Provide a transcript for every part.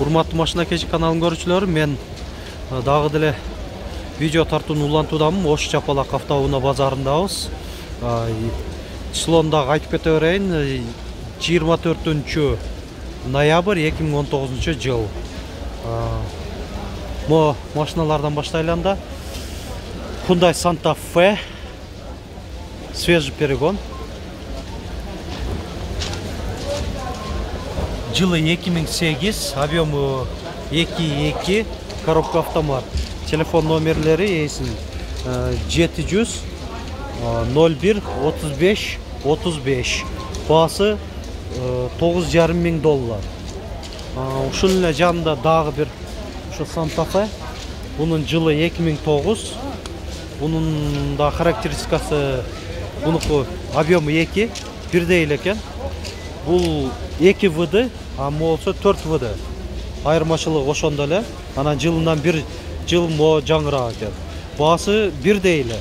Урматтуу Машина Кечи каналын көрүүчүлөрү, мен дагы деле видео тартууну улантуудамын. Ош Чапалак автоунаа базарындабыз. Числону айтып кете берейин. 24 ноябрь 2019 жыл. Мо машиналардан баштайлы анда. Hyundai Santa Fe, свежий перегон. Жылы 2008, объему 2.2, коробка автомат. Телефон номерлери эсин 700 01 35 35. Баасы $9,5 миң. Ушунун эле жанында дагы бир ушу Santa Fe. Бунун жылы 2009. Бунун да характеристикасы, бунуку объему 2, бирдей эле экен. Бул 2 ВД, а болсо 4 ВД. Айырмачылыгы ошондо эле. Анан жылынан 1 жыл мо жаңырак экен. Баасы бирдей эле.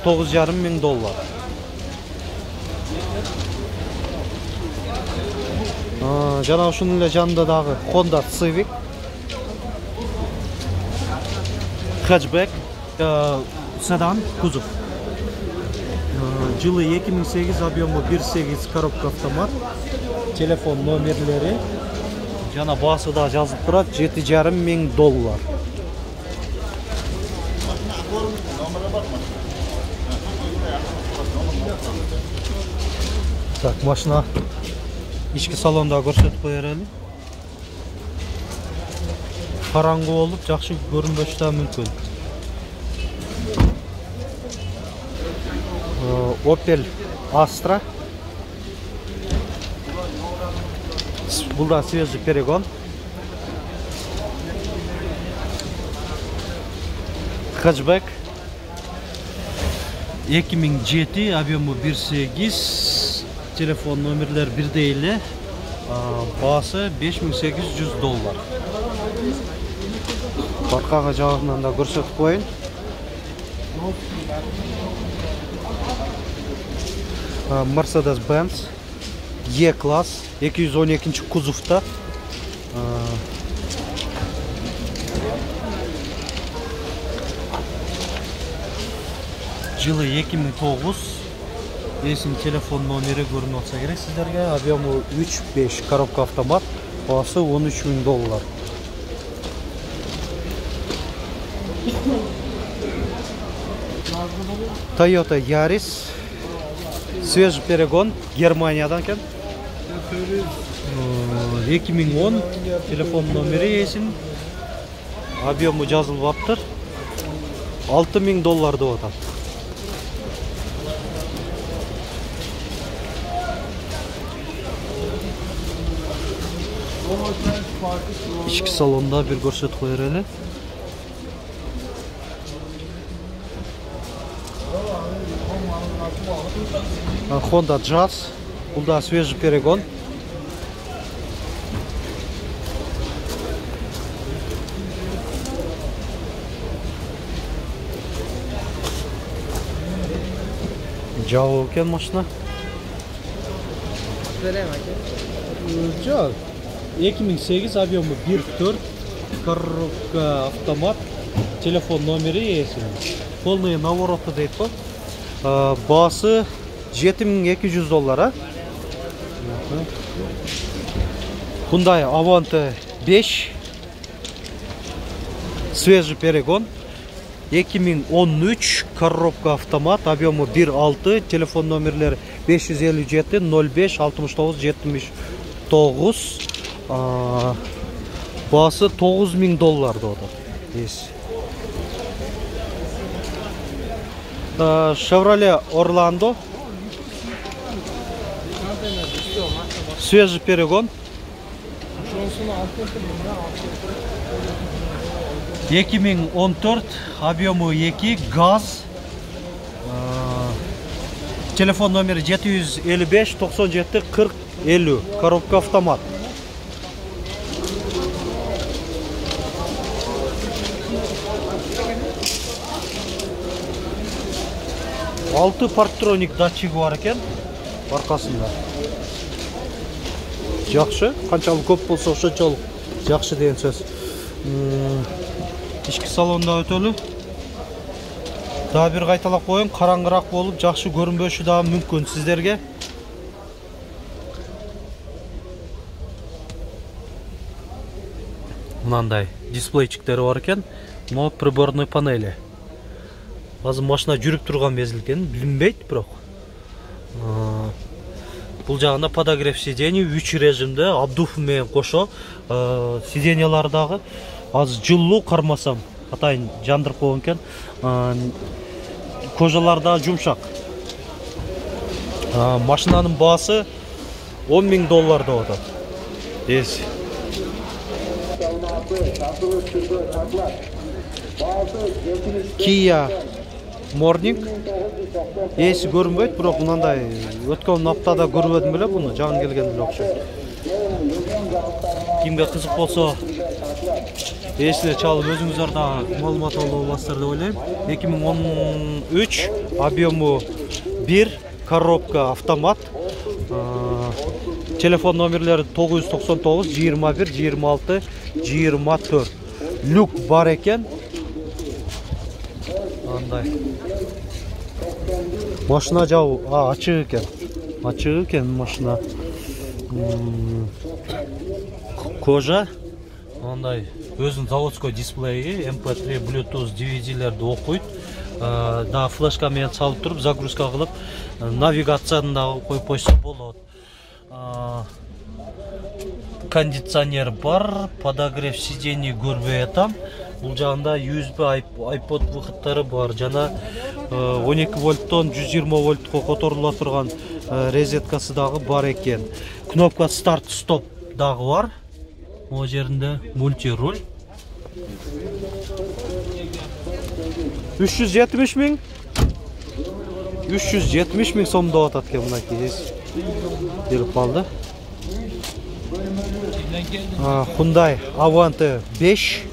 $9,5 миң. Жана ушунун эле жанында дагы Honda Civic hatchback, седан, кузов. Жылы 2008, объему 1.8, коробка автомат. Телефон номерлери жана баасы да жазылып турат, $7,5 миң. Так, машина ички салонда көрсөтүп кое берели. Караңгы болуп, жакшы көрүнбөшү да мүмкүн. Opel Astra. Бул да свежий перегон. Hatchback 2007, объему 1.8. Телефон номерлер бирдей эле. Баасы $5,800. Аркага жагынан да көрсөтүп коеюн. Mercedes-Benz E-класс 212 кузовта. Жылы 2009. Эсин телефон номери көрүнүп атса керек сиздерге. Объему 3.5, коробка автомат. Баасы $13 миң. Toyota Yaris, свежий перегон, Германиядан экен. 2010, телефон номери эсин. Объему жазылып аптыр. $6 миң деп атат. Ички салонда бир көрсөтүп кое берели. Honda Jazz, бул да свежий перегон. Жабы экен машина. Жок. 2008, объему 1.4, коробка автомат. Телефон номери эсин. Полный навороты дейт го. Баасы $7,200. Hyundai Avante 5, свежий перегон, 2013, коробка автомат, объему 1.6, телефон номерлери 557 05 69 79. Баасы $9 миң деп атат. Chevrolet Orlando, свежий перегон, 2014, объему 2, газ. Телефон номери 755 97 40 50, коробка автомат. Алты парктроник датчиги бар экен аркасында. жакшы, канчалык көп болсо ошончолук жакшы деген сөз. Ички салонда өтөлү. Дагы бир кайталап коеюн, караңгыраак болуп, жакшы көрүнбөшү дагы мүмкүн сиздерге. Мынандай дисплейчиктери бар экен. Мына приборный панели. Азыр машина жүрүп турган мезгил билинбейт, бирок. Бул жагында подогрев сидений 3 режимде обдув менен кошо. Сиденьялар дагы азыр жылуу кармасам, атайын жандырып койгон экен. Кожалар дагы жумшак. Машинанын баасы $10.000 деп атат. Эс. Kia Morning. Эси көрүнбөйт, бирок мындай өткөн аптада көрбөдүм беле буну, жаңы келген эле окшойт. Кимге кызык болсо, эсине чалып өзүңүздөр дагы маалымат алып аласыздар деп ойлойм. 2013, объему 1, коробка автомат. Телефон номерлери 999 21 26 24. Люк бар экен. Андай. Машина жабы, ачык экен. Ачык экен машина. Кожа. Андай өзүнүн заводской дисплейи, MP3, Bluetooth, DVD-лерди окуйт. Да флешка менен салып туруп, загрузка кылып, навигацияны да коюп койсо болот. Кондиционер бар, подогрев сидений көрбөй атам. Бул жагында USB iPod выходдары бар, жана 12 вольттон 120 вольтко которула турган розеткасы дагы бар экен. Кнопка старт стоп дагы бар. О жеринде мультируль. 370 миң. 370 миң сом деп атат экен мынакей. Келип калды. Hyundai Avante 5.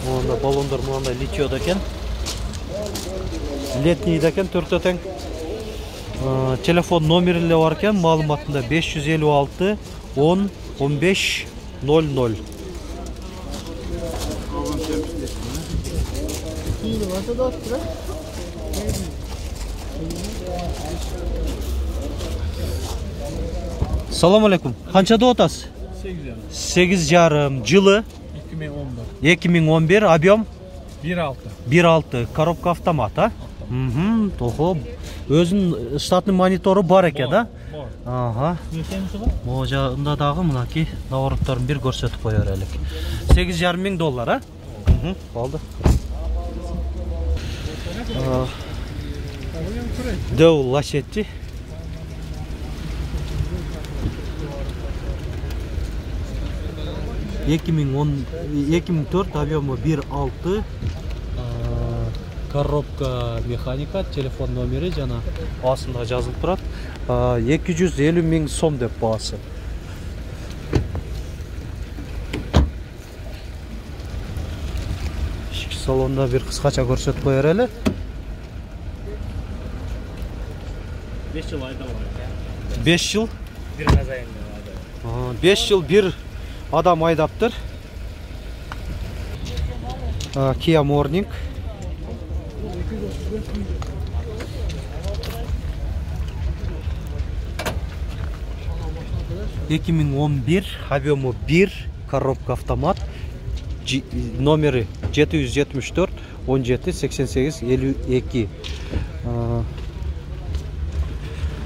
Онда баллондар мындай литиода экен. Летнийда экен, 4 тең. Телефон номери эле бар экен, маалыматында 556 10 15 00. Салам алейкум. Канча деп атасыз? 8,5. Жылы 2011, объем 1.6. Коробка автомат, а? Тохо. Өзүнүн штатный монитору бар экен, да? Ага. Могу жагында дагы мынакей наворотторун бир көрсөтүп кое берелик. $8,5 миң, а? Болду. Дел Лачетти. 2004, объему 1.6, коробка механика, телефон номери жана астында жазылып турат. 250 миң сом деп баасы. Ички салонда бир кыскача көрсөтүп кое берели. 5 жыл айдап. 5 жыл? Бир казайын. 5 жыл бир адам айдаптыр. Kia Morning. $2011, объему 1, коробка автомат, номери 774 17 88 52.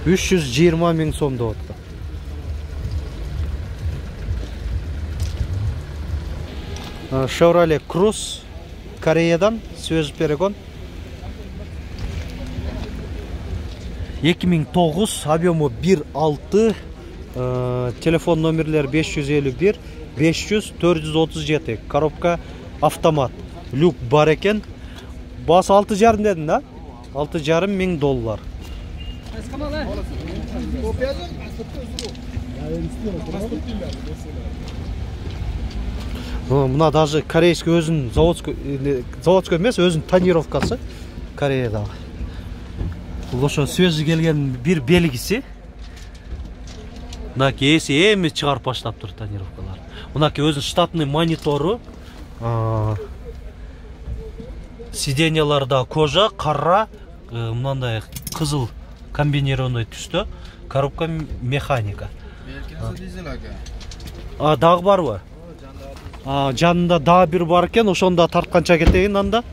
320 миң сом деп атты. Chevrolet Cruze, Кореядан, свежий перегон. 2009, объему 1.6, телефон номерлер 551 500 437, коробка автомат, люк бар экен. Басы 6,5 дедин, да? $6,5 миң. Мына даже корейский өзүнүн заводской эмес, өзүнүн тонировкасы Кореядагы. Бул ошо свежий келген бир белгиси. Мынаки эси эми чыгарып баштаптыр тонировкалар. Мынаки өзүнүн штатный монитору. Сиденьяларда кожа, кара, мындай кызыл комбинированный түстө. Коробка механика. Дагы барбы? Жанында дагы бир бар экен, ошондо тартканча кетейин анда.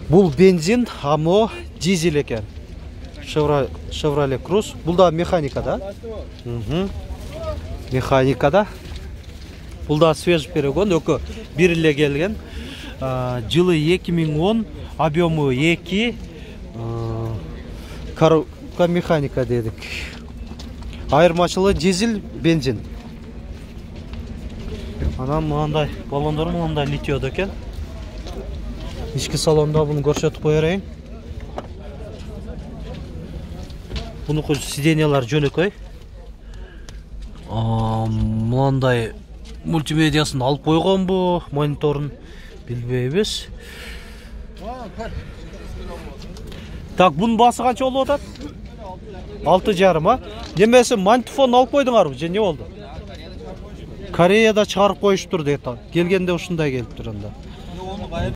Бул бензин, амо дизель экен. Chevrolet Cruze. Бул да механика да? Механика да. Бул да свежий перегон, өкө бир эле келген. Жылы 2010, объему 2. Коробка механика дедик. Айырмачылыгы дизель, бензин. Анан мындай баллондор мындай литиодо экен. Ички салонда буну көрсөтүп кое берейин. Бунуку сиденьялар жөнөкөй. Мындай мультимедиасын алып койгонбу, мониторун билбейбиз. Так, бунун баасы канча болуп атат? 6,5, Немесе магнитофон алып койдуңарбы, же эмне болду? Кореяда чыгарып коюштур дейт. Келгенде ушундай келиптир анда.